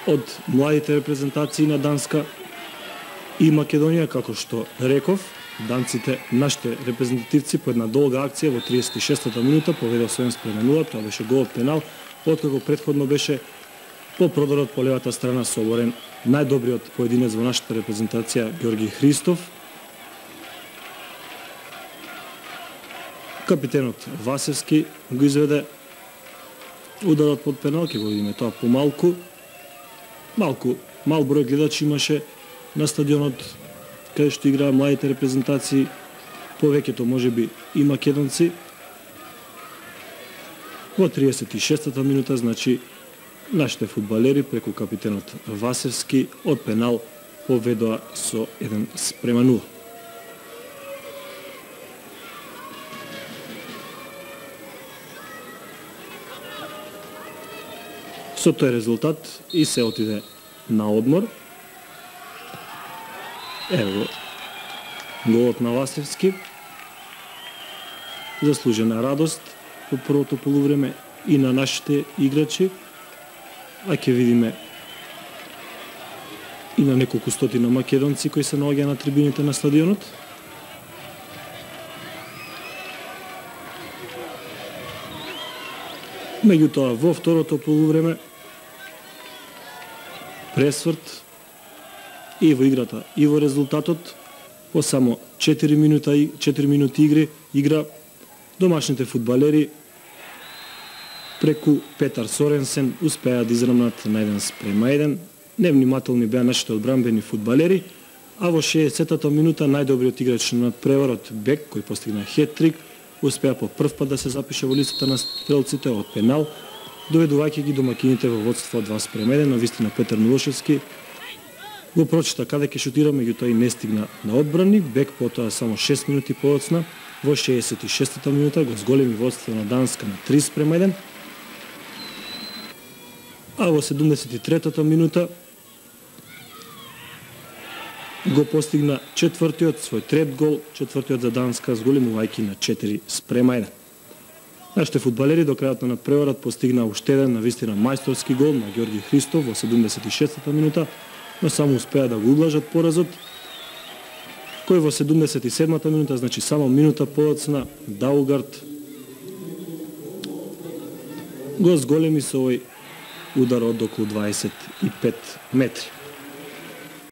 од младите репрезентации на Данска и Македонија, како што реков, данците, нашите репрезентативци по една долга акција во 36-та минута поведоа со 1:0, тоа беше гол од пенал, откако претходно беше по продорот по левата страна соборен најдобриот поединец во нашата репрезентација Ѓорги Христов. Капитенот Васевски го изведе ударот под пенал, ќе го видиме тоа помалку. Мал број гледачи имаше на стадионот каде што играа младите репрезентации, повеќето можеби и македонци. Во 36-та минута, значи, нашите фудбалери преку капитенот Васевски од пенал поведоа со 1:0. Со тој резултат и се отиде на одмор. Ево голот на Васевски. Заслужена радост по првото полувреме и на нашите играчи, а ќе видиме и на неколку стотина македонци кои се наоѓаат на трибините на стадионот. Меѓутоа, во второто полувреме пресврт и во играта, и во резултатот, по само 4 минути игра, домашните фудбалери преку Петар Соренсен успеа да израмнат на 1:1. Невнимателни беа нашите одбранбени фудбалери, а во 60-та минута најдобриот играч на надпреварот Бек, кој постигна хет-трик, успеа по прв пат да се запише во листата на стрелците од пенал, доведувајќи ги домакините во водство 2:1. Навистина Петар Милошевски го прочита каде ќе шутира, меѓутоа и не стигна на одбрани. Бек потоа само 6 минути подоцна, во 66-та минута го зголеми водство на Данска на 3:1. А во 73-та минута го постигна четвртиот свој трет гол, четвртиот за Данска, зголемувајќи на 4:1. Нашите фудбалери до крајот на надпреварот постигнаа уште еден навистина мајсторски гол на Ѓорги Христов во 76-та минута, но само успеа да го ублажат поразот, кој во 77-та минута, значи само минута подоцна, Даугард го зголеми со овој удар од околу 25 метри.